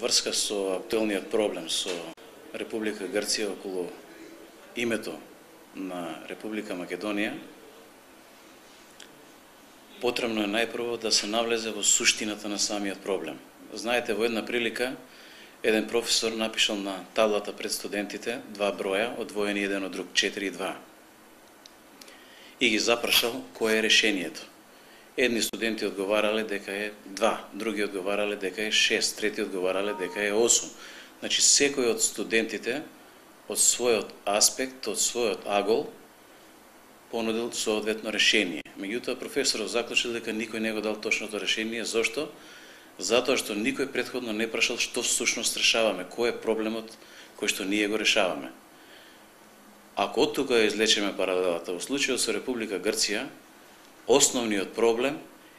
врска со актуелниот проблем со Република Грција околу името на Република Македонија, потребно е најпрво да се навлезе во суштината на самиот проблем. Знаете, во една прилика, еден професор напишал на таблата пред студентите два броја, одвоени еден од друг, 4 и 2. И ги запрашал кое е решението. Едни студенти одговарале дека е 2, други одговарале дека е 6, трети одговарале дека е 8. Значи, секој од студентите, од својот аспект, од својот агол, понудил соодветно решение. Меѓутоа, професорот заклучил дека никој не го дал точното решение. Зошто? Затоа што никој претходно не прашал што всушност решаваме, кој е проблемот кој што ние го решаваме. Ако од тука излечеме паралелата, во случајот со Република Грција, основниот проблем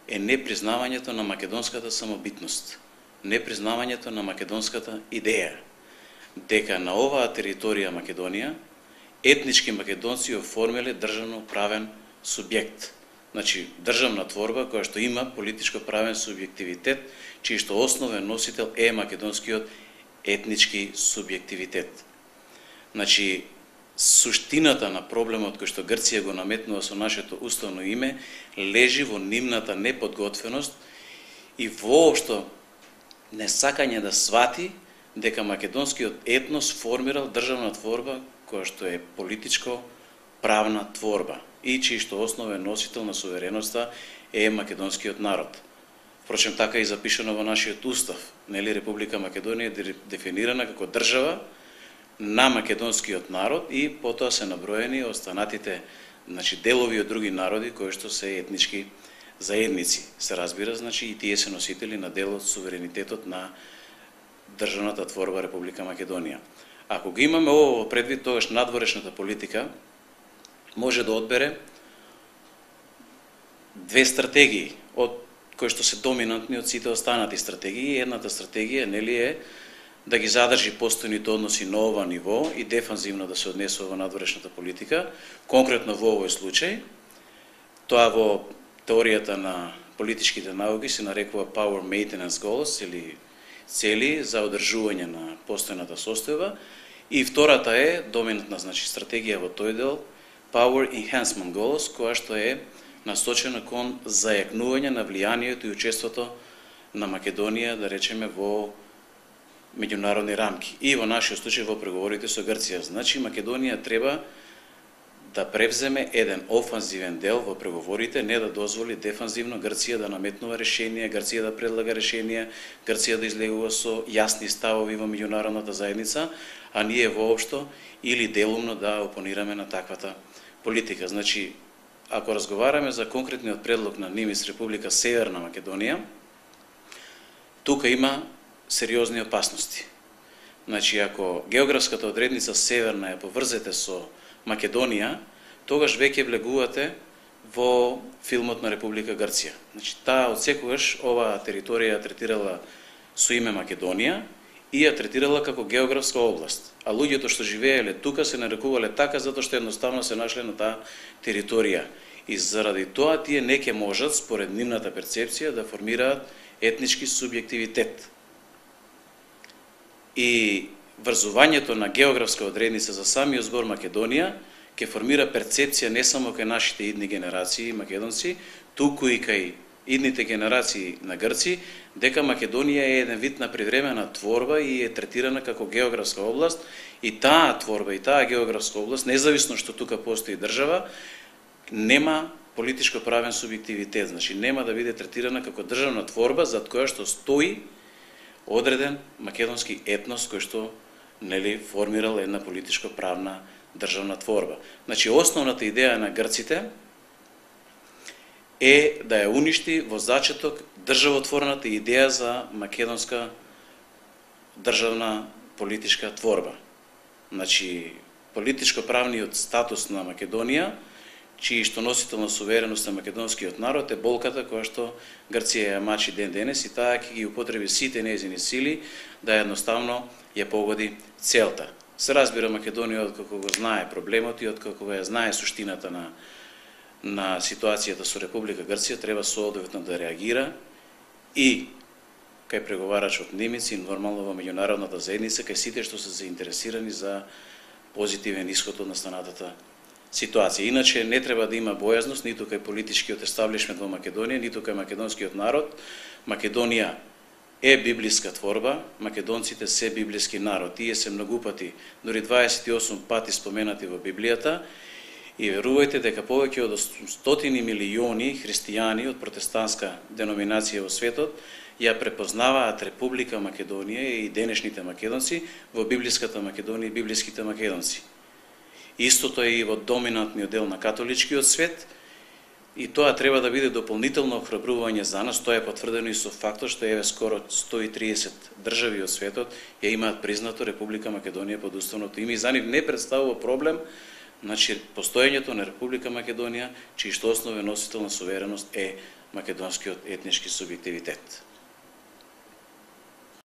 е непризнавањето на македонската самобитност, непризнавањето на македонската идеја, дека на оваа територија Македонија етнички македонци оформиле државно правен субјект. Значи, државна творба која што има политичко правен субјективитет, чиј што основен носител е македонскиот етнички субјективитет. Значи, суштината на проблемот кој што Грција го наметнува со нашето уставно име лежи во нивната неподготвеност и воопшто несакање да свати дека македонскиот етнос формирал државна творба која што е политичко правна творба и чиј што основен носител на сувереноста е македонскиот народ. Впрочем, така и запишано во нашиот устав, нели, Република Македонија е дефинирана како држава на македонскиот народ и потоа се наброени останатите, значи, делови од други народи кои што се етнички заедници. Се разбира, значи, и тие се носители на дел од суверенитетот на државната творба Република Македонија. Ако го имаме ово во предвид, тогаш надворешната политика може да одбере две стратегии, од кои што се доминантни од сите останати стратегии. Едната стратегија, нели, е да ги задржи постојните односи на ова ниво и дефанзивно да се однесува во надворешната политика. Конкретно во овој случај, тоа во теоријата на политичките науки се нарекува power maintenance goals или цели за одржување на постојната состојба. И втората е доминантна, значи, стратегија во тој дел power enhancement goals, која што е насочена кон зајакнување на влијанието и учеството на Македонија, да речеме, во меѓународни рамки и во нашиот случај во преговорите со Грција. Значи, Македонија треба да превземе еден офанзивен дел во преговорите, не да дозволи дефанзивно Грција да наметнува решенија, Грција да предлага решенија, Грција да излегува со јасни ставови во меѓународната заедница, а ние воопшто или делумно да опонираме на таквата политика. Значи, ако разговараме за конкретниот предлог на НИМИС Република Северна Македонија, тука има сериозни опасности. Значи, ако географската одредница Северна ја поврзете со Македонија, тогаш веќе влегувате во филмот на Република Грција. Значи, таа од секогаш оваа територија ја третирала со име Македонија и ја третирала како географска област. А луѓето што живееле тука се нарекувале така затоа што едноставно се нашле на таа територија. И заради тоа тие не ќе можат, според нивната перцепција, да формираат етнички субјективитет. И врзувањето на географска одредница за самиот збор Македонија ќе формира перцепција не само кај нашите идни генерации македонци, туку и кај идните генерации на грци, дека Македонија е еден вид на привремена творба и е третирана како географска област, и таа творба и таа географска област, независно што тука постои држава, нема политичко правен субјективитет, значи нема да биде третирана како државна творба зад која што стои одреден македонски етнос кој што, нели, формирал една политичко правна државна творба. Значи, основната идеја на грците е да ја уништи во зачеток државотворната идеја за македонска државна политичка творба. Значи, политичко-правниот статус на Македонија, чиј што носител на сувереност на македонскиот народ, е болката која што Грција ја мачи ден денес и таа ќе ги употреби сите нејзини сили да едноставно ја погоди целта. Се разбира, Македонија откако го знае проблемот и откако ја знае суштината на ситуацијата со Република Грција, треба соодветно да реагира и кај преговарачот Немец и нормално во меѓународната заедница, кај сите што се заинтересирани за позитивен исход од настанатата ситуација. Иначе не треба да има бојазност ниту кај политичкиот естаблишмент во Македонија, ниту кај македонскиот народ. Македонија е библиска творба, македонците се библиски народ. Тие се многу пати, дори 28 пати споменати во Библијата, и верувајте дека повеќе од 100 милиони христијани од протестантска деноминација во светот ја препознаваат Република Македонија и денешните македонци во библиската Македонија и библиските македонци. Истото е и во доминантниот дел на католичкиот свет, и тоа треба да биде дополнително охрабрување за нас. Тоа е потврдено и со фактот што еве скоро 130 држави од светот ја имаат признато Република Македонија под уставното име, и за нив не представува проблем, значи, постоењето на Република Македонија, чиј што основен носител на сувереност е македонскиот етнички субјективитет.